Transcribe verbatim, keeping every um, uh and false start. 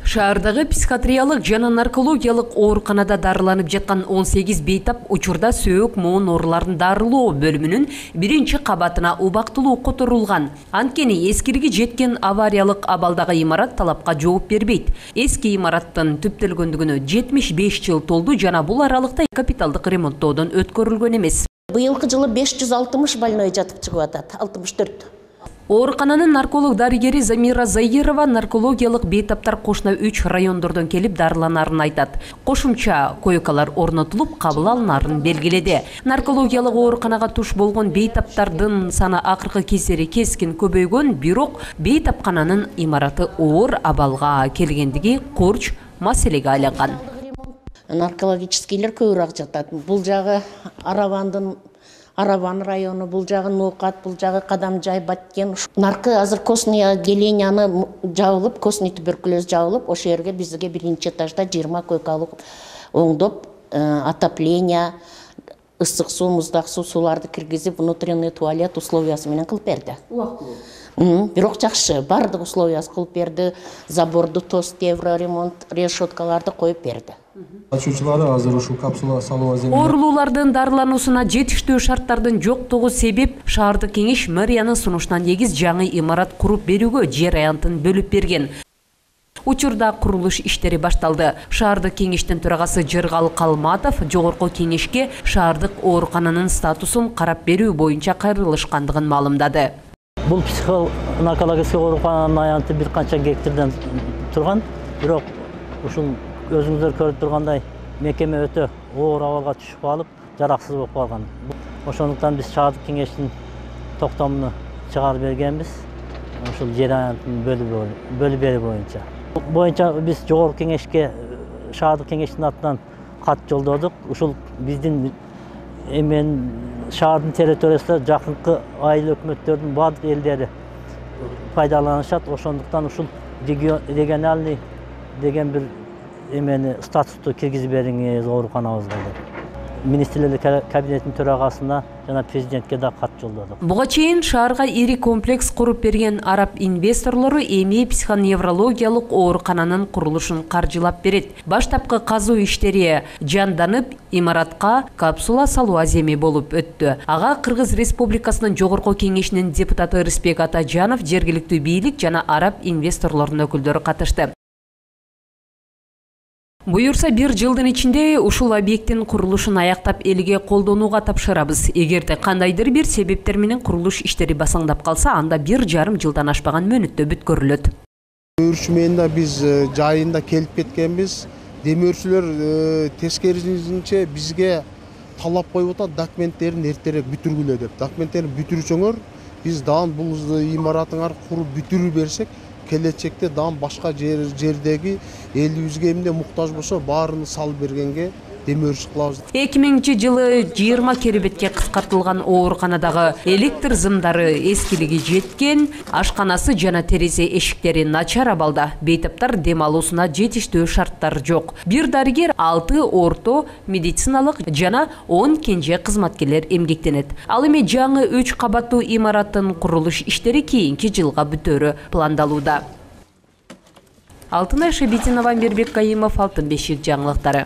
Шаардагы психиатриялык жана наркологиялык ооруканада дарыланып жаткан он сегиз бейтап учурда сөөк моон ооруларын дарылоо бөлүмүнүн биринчи кабатына убактылуу которулган. Анткени эскирги жеткен авариялык абалдагы имарат талапка жооп бербейт. Эски имараттын түптөлгөндүгүнө жетимиш беш жыл толду жана бул аралыкта капиталдык ремонттоодон өткөрүлгөн эмес. Быйылкы жылы беш жүз алтымыш больной жатып чыгып атат, алтымыш төрт. Оорукананын нарколог дарыгери Замира Заирова наркологиялык бейтаптар кошуна үч райондордон келип дарыланарын айтат. Кошумча койкалар орнотулуп, кабыл алынарын белгиледи. Наркологиялык ооруканага туш болгон бейтаптардын саны акыркы кездери кескин көбөйгөн, бирок бейтапкананын имараты оор абалга келгендиги курч маселеге айланган. Наркологическийлер көбүрөөк жатат. Бул жагы Аравандын Араван району, бул жагы Нукат, бул жагы Кадамжай, Баткен. Наркы азыр костный отделенияны жабылып, костный туберкулез жабылып, ошол жерге бизге биринчи этажда жыйырма койкалык оңдоп, отопление, ысык суу, муздак суу, сууларды киргизип, внутренний туалет условиясы менен кылып берди. Убактылуу. Бирок жакшы, бардык условиясы кылып берди. Заборду тост, евро ремонт, решеткаларды коюп берди. Ачуучулары азыр ушул капсула салуу аземине оорулуулардын дарылануусуна жетиштүү шарттардын жоктугу себеп шаардык кеңеш мэриянын сунушуна негиз жаңы имарат куруп берүүгө жер аянтын бөлүп берген. Учурда курулуш иштери башталды. Шаардык кеңештин төрагасы Жыргал Калматов жогорку кеңешке шаардык оорукананын статусун карап берүү боюнча кайрылышкандыгын маалымдады. Бул психонаркологический оорукананын аянты бир канча гектардан турган, бирок ушул өзүңүздөр көрүп тургандай мекеме өтө оор абалга түшүп калып, жараксыз болуп калган. Ошондуктан биз шаардык кеңештин токтомуну чыгарып бергенбиз. Ушул жер аянтын бөлүп берүү боюнча. Боюнча биз жогорку кеңешке шаардык кеңештин атынан кат жолдодук. Ушул биздин эмен шаардын территориясында жакынкы айыл өкмөттөрдүн баардык элдери пайдаланышат. Ошондуктан ушул региональный деген бир эмени статусту киргизип бериңиз ооруканабызга деп. Министрлер кабинетинин төрагасына жана президентке да кат жолдодук. Буга чейин шаарга ири комплекс куруп берген араб инвесторлору эми психоневрологиялык оорукананын курулушун каржылап берет. Баштапкы казуу иштери жанданып, имаратка капсула салуу аземи болуп өттү. Ага Кыргыз Республикасынын жогорку кеңешинин депутаты Рыспек Атажанов, жергиликтүү бийлик жана араб инвесторлорунун өкүлдөрү катышты. Буюрса бир жылдын ичинде ушул объекттин курулушун аяктап элге колдонууга тапшырабыз. Эгерде кандайдыр бир себептер менен курулуш иштери басаңдап калса, анда бир жарым жылдан ашпаган мөөнөттө бүткөрүлөт. Демөөрчү биз жайында келип кеткенбиз. Демөөрчүлөр тескерисинче бизге талап коюп атат, документтерин эртерээк бүтүргүлө деп. Документтерин бүтүрсөңөр, биз дагы бул имараттыңар куруп бүтүрүп берсек, келечекте дагы башка жердеги элибизге эмне муктаж болсо баарын салып бергенге демөөрчү кылабыз. эки миңинчи жылы жыйырма керебетке кыскартылган ооруканадагы электр зымдары эскилиги жеткен, ашканасы жана терезе эшиктери начар абалда. Бейтаптар дем алуусуна жетиштүү шарттар жок. Бир дарыгер алты орто медициналык жана он кенже кызматкерлер эмгектенет. Ал эми жаңы үч кабаттуу имараттын курулуш иштери кийинки жылга бүтөөрү пландалууда. Алтынай Шебетинова, Мирбек Кайымов, Алтын бешик жаңылыктары.